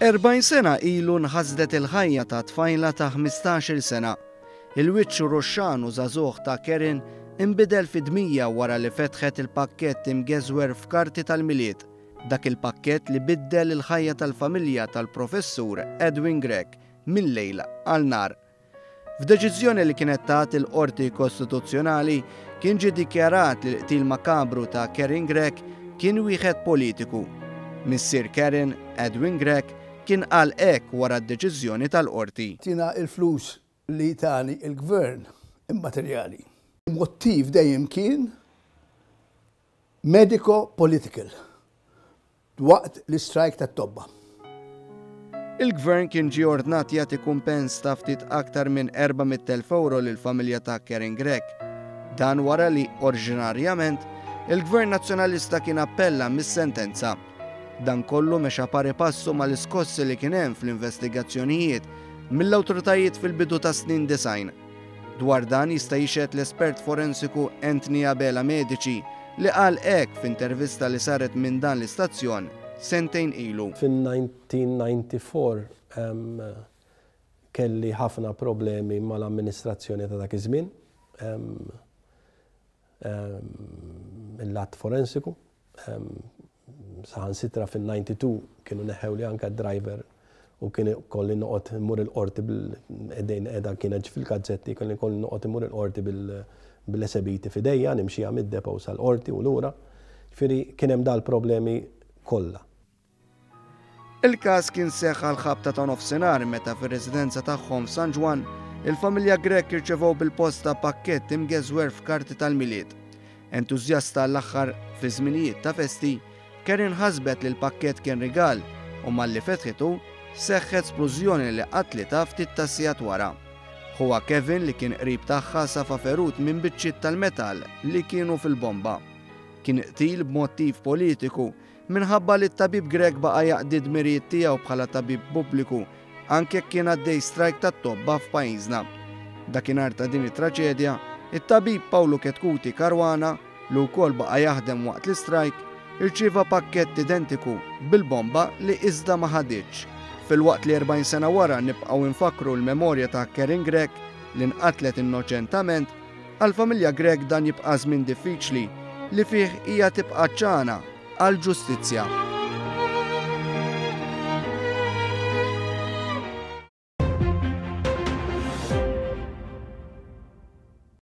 40 sena ilu nħasdet il-ħajja ta' tfajla ta' 15-il sena. Il-wiċċ ruxxan u żagħżugħ ta' Karen inbidel fi dmija wara li fetħet il-pakkett imgeżwer f'karti tal-Milied. Dak il-pakkett li biddel il-ħajja tal-familja tal-Professur Edwin Grech minn lejl għal nhar. F'deċiżjoni li kienet tat il-Qorti Kostituzzjonali kien ġie dikjarat li l-qtil makabru ta' Karen Grech kien wieħed politiku. Missier Karen, Edwin Grech, kien qal hekk wara d-deċiżjoni tal-Qorti. Tina il-flus li tani il-gvern immaterjali. Il-mottiv dejjem kien medico-political waqt l-istrajk tat-tobba. Il-Gvern kien ġie ordnat jagħti kumpens ta' ftit aktar minn 400,000 ewro lill-familja ta' Karen Grech. Dan wara li, oriġinarjament, il-Gvern Nazzjonalista kien appella mis-sentenza. Dan kollu mexa pari passu mal-iskossi li kien hemm fl-investigazzjonijiet mill-awtoritajiet fil-bidu tas-snin 90. Dwar dan jista' jixhed l-espert forensiku Anthony Abela Medici li qal hekk f'intervista li saret minn dan l-istazzjon sentejn ilu. Fin-1994 kelli ħafna problemi mal-amministrazzjoni ta' dak iż-żmien, mill-att forensiku. Saħansitra fin-92 kienu neħħewli anke d-driver u kien ikolli noqgħod immur il-qorti bil-qegħdin qiegħda kienet fil-gazzetti, kien ikolli noqgħod immur il-qorti bil-esebiti f'idejja, nimxiha mid-depot sal-qorti u lura. Ġifieri kien hemm dal-problemi kollha. Il-każ kien seħħ għall-ħabta ta' nofsinhar meta fir-residenza tagħhom f'San Ġwann, il-familja Grech irċevew bil-posta pakkett imgeżwer f'karti tal-Milied. Entużjasta għall-aħħar fi żminijiet ta' festi, Karen ħasbet li l-pakkett kien rigal u malli fetħitu, seħħet splużjoni li qatlitha ftit tas-sigħat wara. Ħuha Kevin li kien qrib tagħha safa ferut minn biċċiet tal-metall li kienu fil-bomba. Kien qtil b'mottiv politiku minħabba li t-tabib Grech baqa' jaqdi d-dmirijiet tiegħu bħala tabib pubbliku anke jekk kien għaddej strajk tat-tobba f'pajjiżna. Dakinhar ta' din it-traġedja, it-tabib Pawlu Chetcuti Caruana, li wkoll baqa' jaħdem waqt l-istrajk, irċieva pakkett identiku bil-bomba li iżda ma ħaditx. Filwaqt li 40 sena wara nibqgħu nfakkru l-memorja ta' Karen Grech li nqatlet innoċentament, Għall-familja Grech dan jibqa' żmien diffiċli li fih hija tibqa' għatxana għall-ġustizzja.